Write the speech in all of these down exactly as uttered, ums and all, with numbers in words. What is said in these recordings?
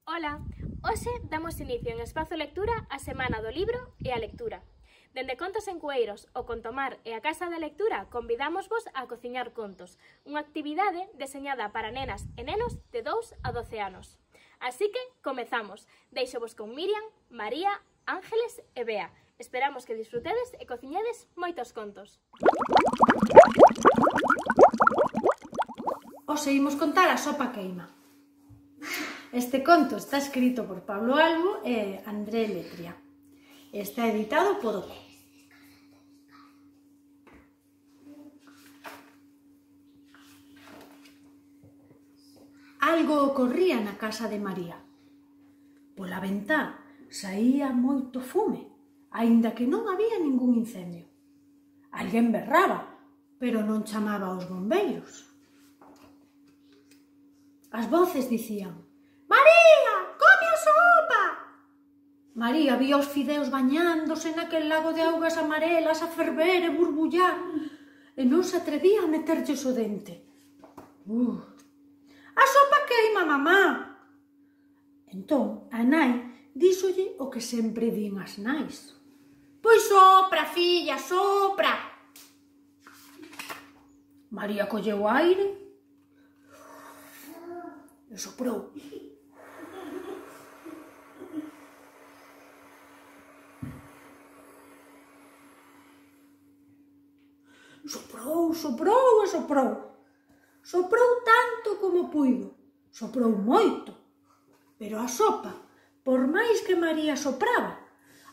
Ola, hoxe damos inicio en Espazo Lectura a Semana do Libro e a Lectura. Dende Contos en Cueiros, o Contomar e a Casa da Lectura convidámosvos a cociñar contos, unha actividade deseñada para nenas e nenos de dous a doce anos. Así que, comezamos. Deixovos con Miriam, María, Ángeles e Bea. Esperamos que disfrutedes e cociñedes moitos contos. Hoxe imos contar a sopa queima. Este conto está escrito por Pablo Albo e André Letria. Está editado por Oco. Algo ocorría na casa de María. Pola ventá saía moito fume, aínda que non había ningún incendio. Alguén berraba, pero non chamaba aos bombeiros. As voces dicían: «María, come a sopa!» María vía os fideos bañándose naquel lago de augas amarelas a ferver e burbullar e non se atrevía a meterlles o dente. Uh, «A sopa queima, mamá!» Entón, a nai díxolle o que sempre din as nais: «Pois sopra, filla, sopra!» María colleu aire e soprou. Soprou, soprou e soprou. Soprou tanto como puido. Soprou moito. Pero a sopa, por máis que María sopraba,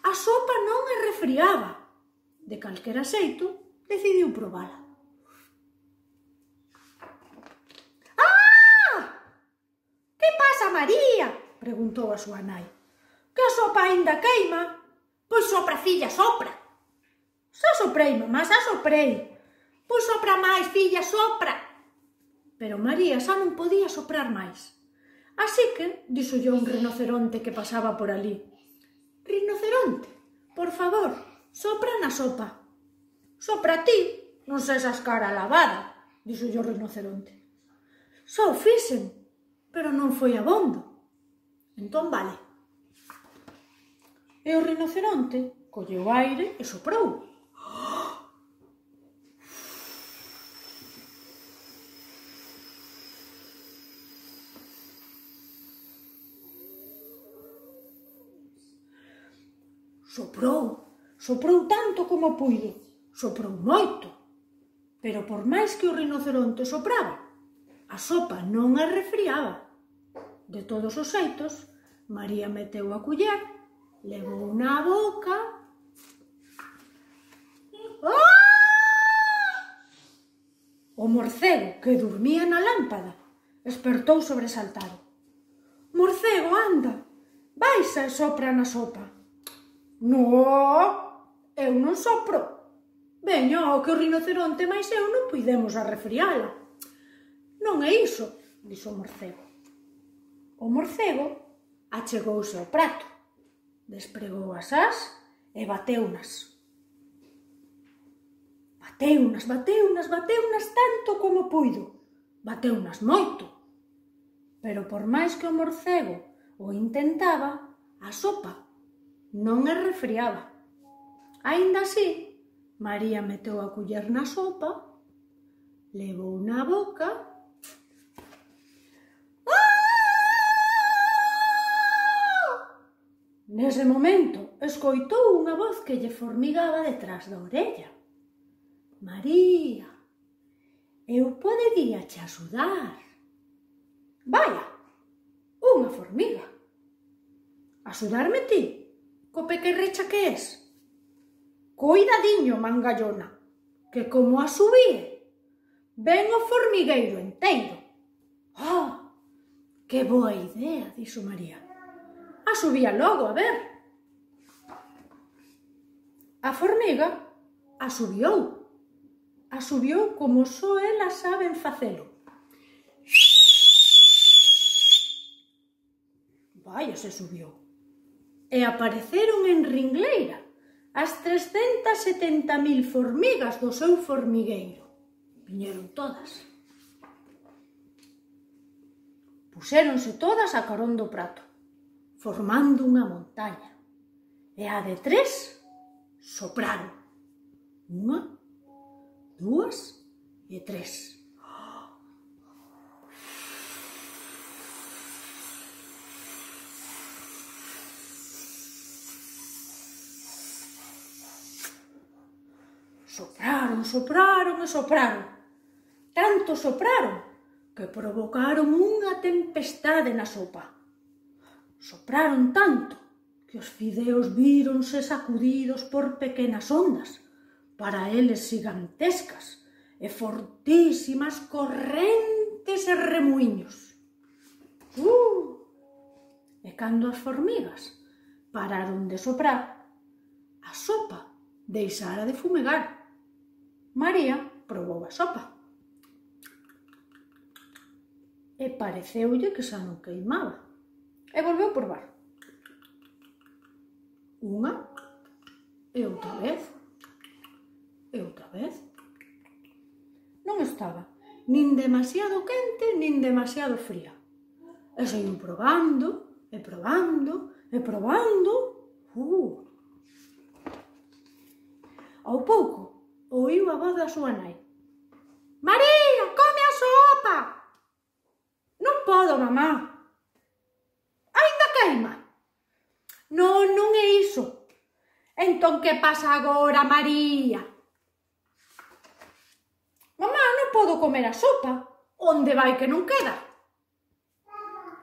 a sopa non a refriaba. De calquera xeito, decidiu probala. «María», preguntou a súa nai, «que a sopa aínda queima?» «Pois sopra, filla, sopra!» «Xa soprei, mamá, xa soprei!» «Pois sopra máis, filla, sopra!» Pero María xa non podía soprar máis. Así que díxolle un rinoceronte que pasaba por ali: «Rinoceronte, por favor, sopra na sopa». «Sopra ti, non sexas cara lavada», díxolle o rinoceronte. «Xa o fixen, pero non foi abondo». «Entón vale». E o rinoceronte colleu aire e soprou. Soprou, soprou tanto como puido, soprou moito. Pero por máis que o rinoceronte sopraba, a sopa non a refriaba. De todos os xeitos, María meteu a culler, levou na boca... Ah! O morcego, que dormía na lámpada, espertou sobresaltado. «Morcego, anda, baixa e sopra na sopa». «No, eu non sopro. Veño, que o rinoceronte máis eu non puidemos a refriala». «Non é iso», dixo o morcego. O morcego achegouse ao prato, despregou as ás e bateunas. Bateunas, bateunas, bateunas tanto como puido. Bateunas moito. Pero por máis que o morcego o intentaba, a sopa non a refriaba. Aínda así, María meteu a culler na sopa, levou na boca... Nese momento, escoitou unha voz que lle formigaba detrás da orella. «María, eu podería che axudar». «Vaya, unha formiga. Axudarme ti, co pequerrecha que es?» «Coidadiño, mangallona, que como a subíe, ven o formigueiro enteiro». «Ah, que boa idea», dixo María. «A subía logo, a ver». A formiga asubiou. Asubiou como só elas saben facelo. Vaya, se subiu. E apareceron en ringleira as trescentas setenta mil formigas do seu formigueiro. Viñeron todas. Puxéronse todas a carón do prato. formando unha montaña. E a de tres sopraron. Unha, dúas e tres. Sopraron, sopraron e sopraron. Tanto sopraron que provocaron unha tempestade na sopa. Sopraron tanto que os fideos víronse sacudidos por pequenas ondas, para eles gigantescas e fortísimas correntes e remuiños. Uh! E cando as formigas pararon de soprar, a sopa deixara de fumegar. María probou a sopa e pareceulle que xa non queimaba e volveu probar. Unha e outra vez e outra vez. Non estaba nin demasiado quente nin demasiado fría. E seguiu probando e probando e probando. Uh! Ao pouco oíu a voz da súa nai. María, come a sopa! Non podo, mamá. Ainda queima. Non, non é iso. Entón, que pasa agora, María? Mamá, non podo comer a sopa. Onde vai que non queda?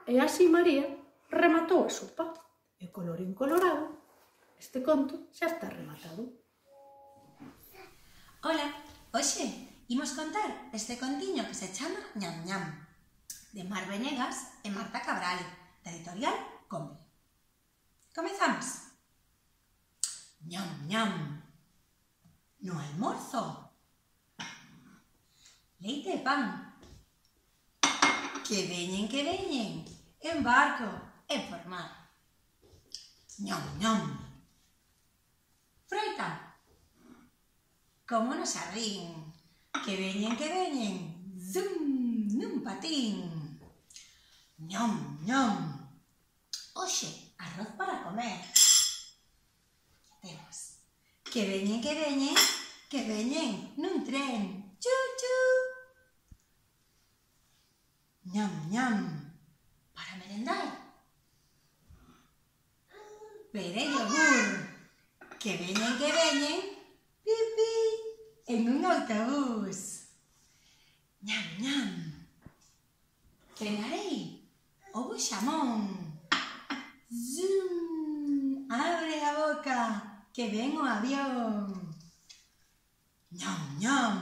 E así María rematou a sopa. E colorín colorado, este conto xa está rematado. Ola, hoxe imos contar este contiño que se chama Ñam Ñam, de Mar Venegas e Marta Cabral, da editorial Combe. Comezamos. Ñam Ñam. No almorzo. Leite e pan. Que veñen, que veñen, en barco e por mar. Ñam Ñam. Froita. Como no xardín, que veñen, que veñen, zum, nun patín. Ñam, ñam. Oxe, arroz para comer. Temos. Que veñen, que veñen, que veñen, nun tren. Chu, chu. Ñam, ñam. Para merendar. Pere yogur. Que veñen, que veñen, pipi, en un autobús. Ñam, ñam. Cenarei ovo xamón. Zoom, abre a boca, que ven o avión. Ñam, ñam,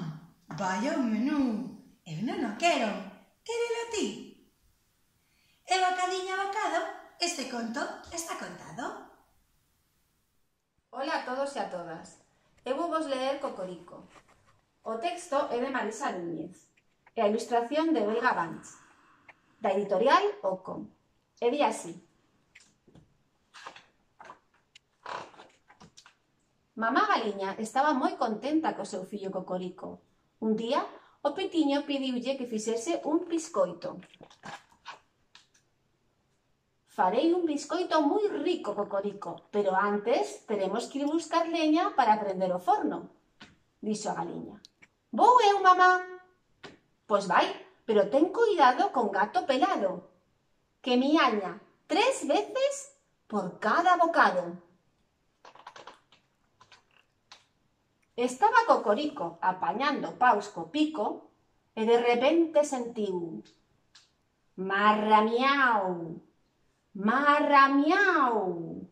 vaya un menú. Eu non o quero, quérelo ti. E bocadiño a bocado, este conto está contado. Ola a todos e a todas. Eu vou vos ler Cocorico. O texto é de Marisa Núñez e a ilustración de Olga Banch, da editorial Ocom. E di así. Mamá Galiña estaba moi contenta co seu fillo Cocorico. Un día, o petiño pediulle que fixese un biscoito. Farei un biscoito moi rico, Cocorico, pero antes teremos que ir buscar leña para prender o forno, dixo a galiña. Vou eu, mamá. Pois vai, pero ten cuidado con gato pelado, que miaña tres veces por cada bocado. Estaba Cocorico apañando paus co pico e de repente sentiu marra miau. Marra miau,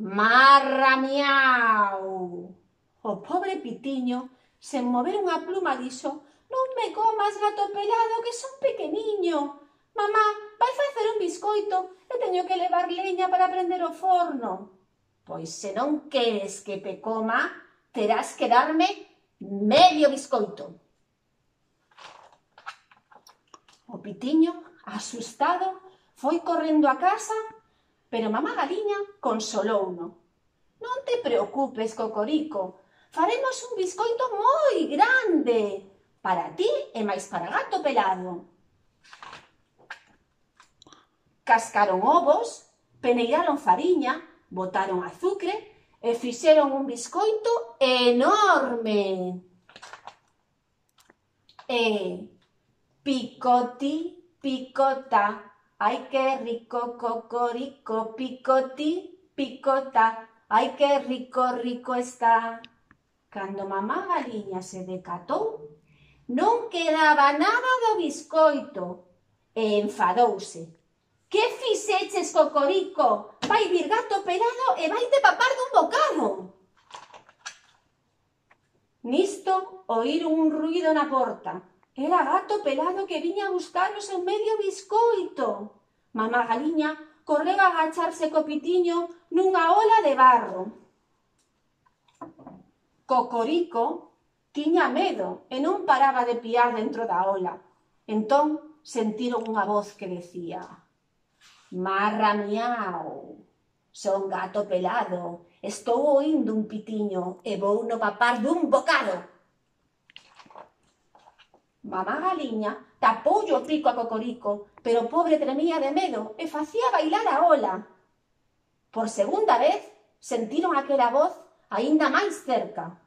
marra miau. O pobre pitiño, sen mover unha pluma, dixo: non me comas, gato pelado, que son pequeniño. Mamá, vai facer un biscoito e teño que levar leña para prender o forno. Pois se non queres que te coma, terás que darme medio biscoito. O pitiño, asustado, foi correndo a casa, pero mamá galiña consolouno. Non te preocupes, Cocorico, faremos un biscoito moi grande, para ti e máis para gato pelado. Cascaron ovos, peneiraron fariña, botaron azucre e fixeron un biscoito enorme. E picoti, picota, ai que rico cocorico, picoti, picota, ai que rico, rico está. Cando mamá Galiña se decatou, non quedaba nada do biscoito e enfadouse. Que fixeches, cocorico? Vai vir gato pelado e vai te papar dun bocado. Nisto oíron un ruído na porta. Era gato pelado que viña a buscar o seu medio biscoito. Mamá Galiña correu a agacharse co pitiño nunha ola de barro. Cocorico tiña medo e non paraba de piar dentro da ola. Entón sentiron unha voz que decía: marra miau, son gato pelado, estou oindo un pitiño e vou no papar dun bocado. Mamá Galiña tapoulle o pico a Cocorico, pero o pobre tremía de medo e facía bailar a ola. Por segunda vez sentiron aquela voz aínda máis cerca.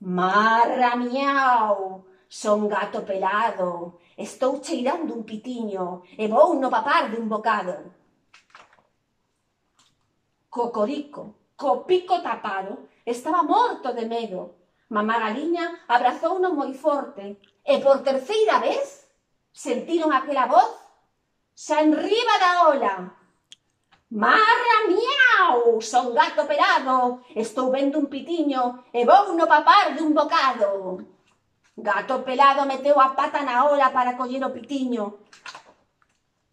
Marra miau, son gato pelado, estou cheirando un pitiño e vou no papar dun bocado. Cocorico, co pico tapado, estaba morto de medo. Mamá Galiña abrazouno moi forte e por terceira vez sentiron aquela voz xa enriba da ola. Marra miau, son gato pelado, estou vendo un pitiño e vou no papar dun bocado. Gato pelado meteu a pata na ola para coller o pitiño.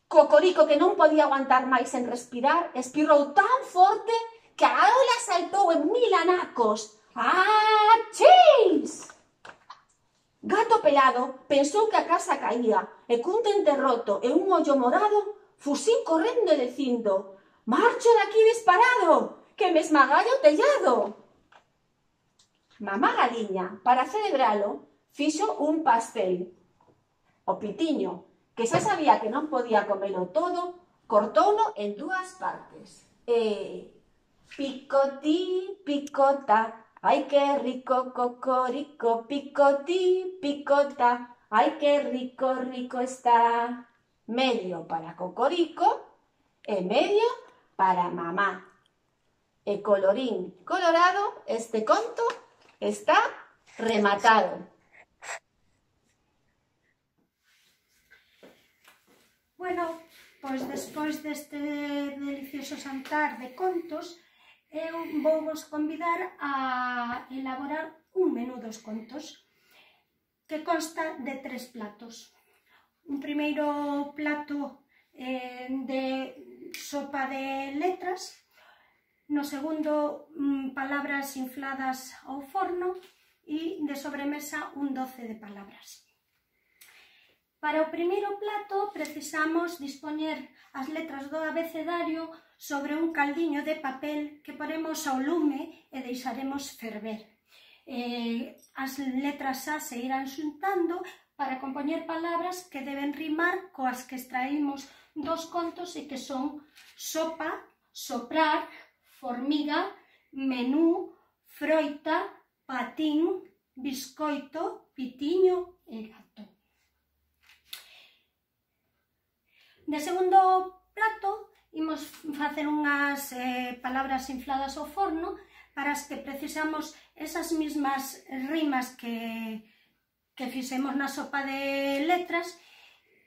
Cocorico, que non podía aguantar máis en respirar, espirrou tan forte que a ola saltou en mil anacos. ¡Achís! Gato pelado pensou que a casa caía e cun dente roto e un ollo morado fuxín correndo e dicindo: marcho daqui disparado, que me esmagalla o tellado. Mamá Galiña, para celebralo, fixo un pastel. O pitiño, que xa sabía que non podía comelo todo, cortouno en dúas partes. E picotí, picota, ai que rico cocorico, picotí, picota, ai que rico, rico está. Medio para Cocorico e medio para mamá. E colorín colorado, este conto está rematado. Bueno, pois despois deste delicioso xantar de contos, eu vou vos convidar a elaborar un menú dos contos que consta de tres platos. Un primeiro plato eh, de sopa de letras, no segundo mm, palabras infladas ao forno e de sobremesa un doce de palabras. Para o primeiro plato precisamos dispoñer as letras do abecedario sobre un caldiño de papel que poremos ao lume e deixaremos ferver. Eh, as letras xa se irán xuntando para compoñer palabras que deben rimar coas que extraímos dos contos e que son sopa, soprar, formiga, menú, froita, patín, biscoito, pitiño e gato. De segundo plato, imos facer unhas eh, palabras infladas ao forno para as que precisamos esas mismas rimas que, que fixemos na sopa de letras,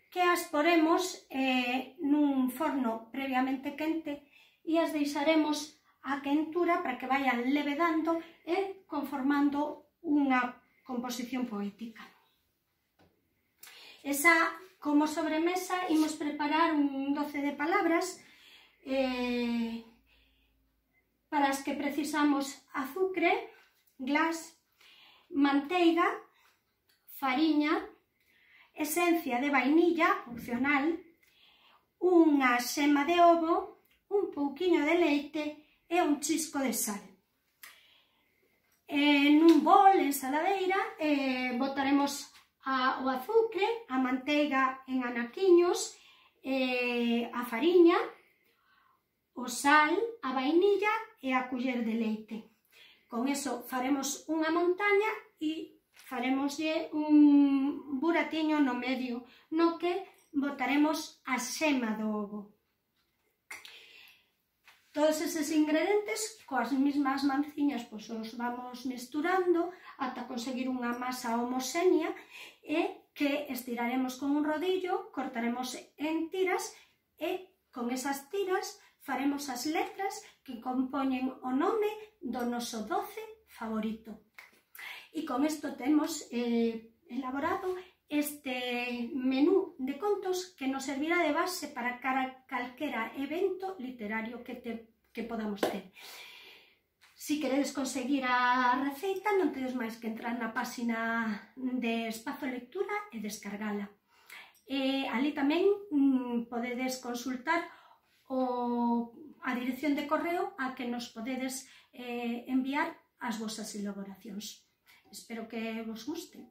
que as poremos eh, nun forno previamente quente e as deixaremos a quentura para que vayan levedando e conformando unha composición poética. Esa, como sobremesa, imos preparar un doce de palabras eh, para as que precisamos azucre, glas, manteiga, fariña, esencia de vainilla, opcional, unha xema de ovo, un pouquiño de leite e un chisco de sal. En un bol, ensaladeira, eh, botaremos a, o azucre, a manteiga en anaquiños, eh, a fariña, o sal, a vainilla e a culler de leite. Con eso faremos unha montaña e faremoslle un buratiño no medio, no que botaremos a xema do ovo. Todos eses ingredientes, coas mesmas manciñas, pois os vamos mesturando ata conseguir unha masa homoxénea e que estiraremos con un rodillo, cortaremos en tiras e con esas tiras faremos as letras que compoñen o nome do noso doce favorito. E con isto temos eh, elaborado este menú de contos que nos servirá de base para cara calquera evento literario que, te, que podamos ter. Si queredes conseguir a receita, non tedes máis que entrar na páxina de Espazo Lectura e descargala. E ali tamén mm, podedes consultar o, a dirección de correo a que nos podedes eh, enviar as vosas elaboracións. Espero que vos guste.